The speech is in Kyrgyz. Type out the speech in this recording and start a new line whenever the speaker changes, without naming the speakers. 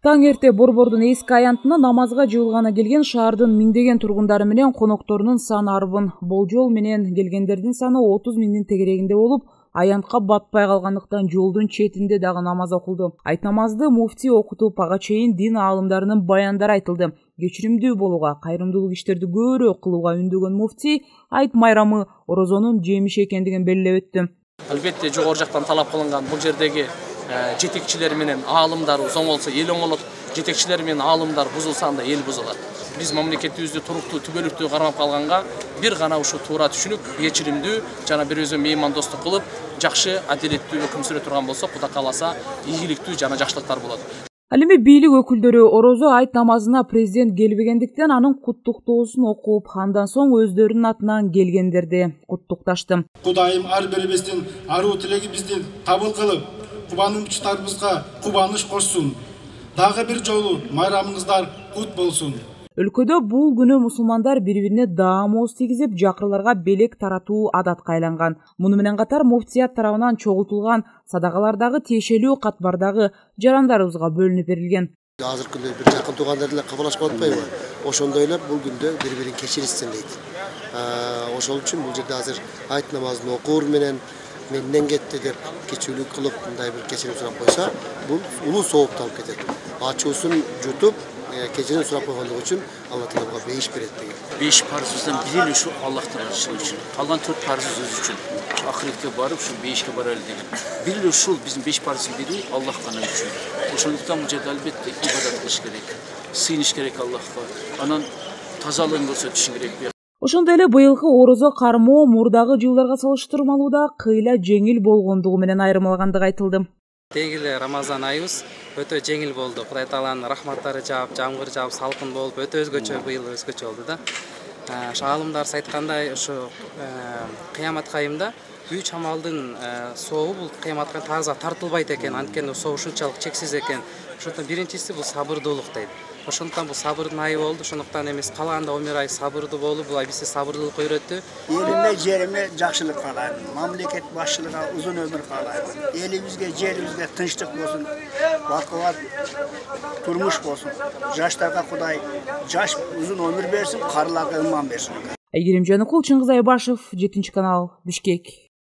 Таң эрте Борбордун эски аянтына намазга жыйылганы келген шаардын миңдеген тургундары менен конокторунун саны арбын. Болжол менен келгендердин саны 30 миңдин тегерегинде болуп, аянтка батпай калгандыктан жолдун четинде дагы намаз окулду. Айт намазды муфтий окутуп, ага чейин дин аалымдарынын баяндары айтылды. Кечиримдүү болууга, кайрымдуулук иштерди көбүрөөк кылууга үндөгөн муфтий айт майрамы орозонун жемиши экендигин белгилеп өттү.
Албетте жогору жактан талап кылынган бул жердеги жетекчилер менен аалымдар оң болсо эл оң болот, жетекчилер менен аалымдар бузулса анда эл бузулат. Биз мамлекетибизди туруктуу, түбөлүктүү кармап калганга бир гана ушу туура түшүнүп, кечиримдүү жана бири өзү меймандостук кылып, жакшы, адилеттүү өкүм сүрө турган болсок, Кудай кааласа, ийгиликтүү жана жакшылыктар болот.
Ал эми бийлик өкүлдөрү орозо айт намазына президент келбегендиктен анын куттуктоосун окуп, андан соң өздөрүнүн атынан келгендерди куттукташты.
Кудайым ар бирибиздин аруу тилегибизди кабыл кылып, кубанычтарыбызга кубаныч кошсун. Дагы бир жолу майрамыңыздар кут болсун.
Өлкөдө бул күнү мусулмандар бири-бирине даамооз тийгизип, жакырларга белек таратуу адатка айланган. Муну менен катар муфтият тарабынан чогултулган садакалардагы тиешелүү катбардагы жарандарыбызга бөлүнүп берилген.
Азыркы күндө бир жакын туугандар деле кабылашып атпайбы? Ошондой эле бул күндө бири-бирин кечиришсин дейт. Ошол үчүн бул жерде азыр айт намазын окуур менен менден кетти деп кечүүлүк кылып, мындай бир кечирим сурап койсо, бул улуу соопты алып кетет. Ачуусун жутуп, кечирим сурап койгондугу үчүн Алла Таалага бейиш берет деген.
5 парыздан бири эле ушу Аллахтан ачышы үчүн. Калган 4 парыз өз үчүн. Ахиретке барып, ушу 5ке баралы деген. Бир эле ушул биздин 5 парыздын бири Аллах гана үчүн. Ошондуктан бул жерде албетте ибадат кылыш керек. Сыйыныш керек Аллахка. Анан тазалыгын көрсөтүш керек.
Ошондой эле быйылкы орозо кармоо мурдагы жылдарга салыштырмалуу да кыйла жеңил болгондугу менен айырмалагандыгы айтылды.
Тегиле Рамазан айыбыз өтө жеңил болду. Кудай Тааланын рахматтары жаап, жамгыр жаап, салкын болуп, өтө өзгөчө быйыл өзгөчө болду да. Аалымдар айткандай, ушу кыяматка айымда үч амалдын сообу бул кыяматка тарза тартылбайт экен, анткени соо ушунчалык чексиз экен. Ошондон биринчиси бул сабырдуулук дейт. Ошондуктан бул сабырдын айы болду. Ошондуктан эмес калаганда 11 ай сабырдуу болуп, бул бизге сабырдуулук үйрөттү.
Элиме, жериме жакшылык каалайм. Мамлекет башчылыгына узун өмүр каалайм. Элибизге, жерибизге тынчтык болсун, бакубат турмуш болсун. Жаштарга Кудай жаш узун өмүр берсин, карыларга ыман берсин.
Айгерим Жаныкул, Чыңгыз Айбашев, 7 канал, Бишкек.